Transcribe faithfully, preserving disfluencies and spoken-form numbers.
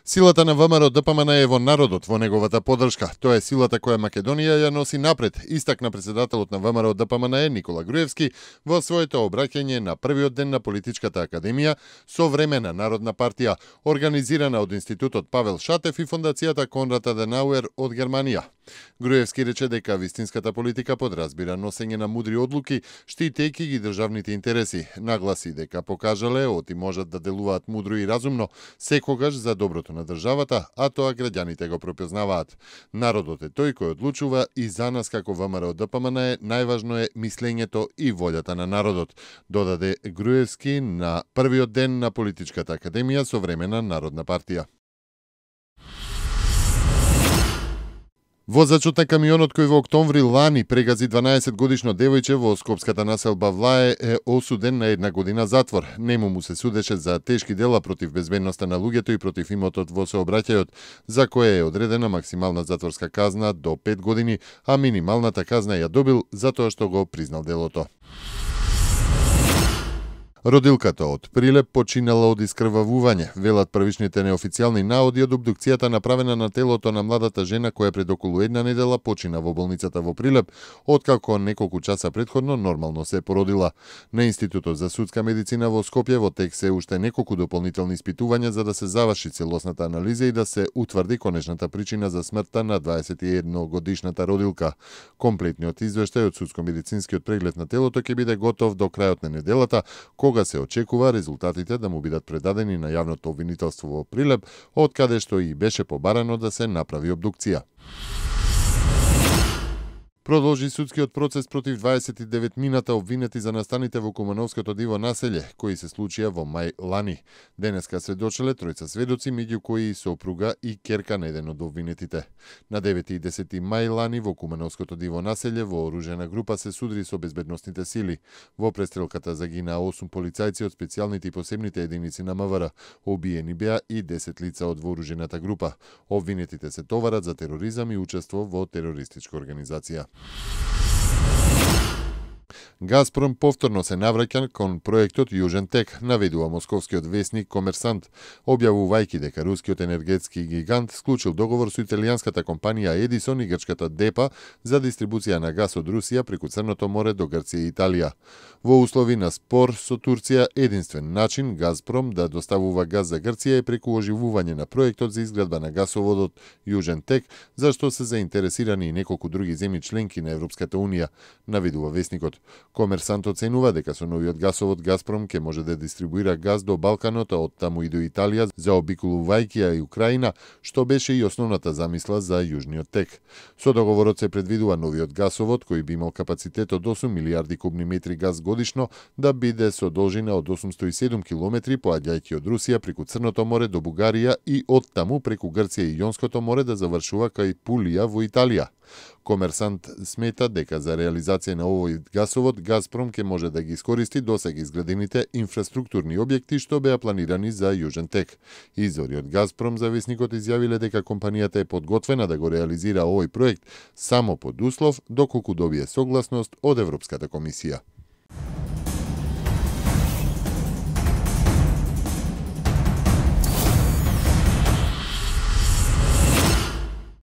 Силата на ВМРО Д П М Н е во народот, во неговата поддршка. Тоа е силата која Македонија ја носи напред, истакна председателот на ВМРО Д П М Н Никола Груевски во своето обраќање на првиот ден на Политичката академија Современа народна партија, организирана од Институтот Павел Шатев и Фондацијата Конрад Аденауер од Германија. Груевски рече дека вистинската политика подразбира носење на мудри одлуки, штитејќи ги државните интереси. Нагласи дека покажале оти можат да делуваат мудро и разумно, секогаш за доброто на државата, а тоа граѓаните го пропознаваат. Народот е тој кој одлучува и за нас како ВМРО Д П М Н е најважно е мислењето и волјата на народот, додаде Груевски на првиот ден на Политичката академија Современа народна партија. Возачот на камионот кој во октомври лани прегази дванаесет годишно девојче во скопската населба Влае е осуден на една година затвор. Нему му се судеше за тешки дела против безбедноста на луѓето и против имотот во сообраќајот, за кое е одредена максимална затворска казна до пет години, а минималната казна ја добил затоа што го признал делото. Родилката од Прилеп починала од искрвавување, велат првичните неофицијални наоди од обдукцијата направена на телото на младата жена која пред околу една недела почина во болницата во Прилеп, откако неколку часа претходно нормално се породила. На Институтот за судска медицина во Скопје во тек се уште неколку дополнителни испитувања за да се заврши целосната анализа и да се утврди конечната причина за смртта на дваесет и една годишната родилка. Комплетниот извештај од судско-медицинскиот преглед на телото ќе биде готов до крајот на неделата, кога се очекува резултатите да му бидат предадени на јавното обвинителство во Прилеп, од каде што и беше побарано да се направи обдукција. Продолжи судскиот процес против дваесет и девет мината обвинети за настаните во Кумановското диво населје, кои се случија во мај лани. Денеска сведочеле тројца сведоци, меѓу кои и сопруга и ќерка на еден од обвинетите. На девети и десети мај лани во Кумановското диво населје вооружена група се судри со безбедносните сили. Во престрелката загинаа осум полицајци од специјалните и посебните единици на М В Р. Обиени беа и десет лица од вооружената група. Обвинетите се товарат за тероризам и учество во терористичка организација. Газпром повторно се навраќа кон проектот Јужен тек, наведува московскиот весник Комерсант, објавувајќи дека рускиот енергетски гигант склучил договор со италијанската компанија Едисон и грчката Депа за дистрибуција на газ од Русија преку Црното море до Грција и Италија. Во услови на спор со Турција, единствен начин Газпром да доставува газ за Грција е преку оживување на проектот за изградба на гасоводот Јужен тек, за што се заинтересирани и неколку други земји членки на Европската унија, наведува весникот. Комерсант оценува дека со новиот гасовод Газпром ќе може да дистрибуира газ до Балканот, а од таму и до Италија, заобиколувајќи ја и Украина, што беше и основната замисла за Јужниот тек. Со договорот се предвидува новиот гасовод, кој би имал капацитет од осум милијарди кубни метри газ годишно, да биде со должина од осумсто и седум километри, поаѓајќи од Русија преку Црното море до Бугарија и од таму преку Грција и Јонското море да завршува кај Пулија во Италија. Комерсант смета дека за реализација на овој гасовод Газпром ќе може да ги искористи досега изградените инфраструктурни објекти што беа планирани за Јужен тек. Извори од Газпром за весникот изјавиле дека компанијата е подготвена да го реализира овој проект само под услов доколку добие согласност од Европската комисија.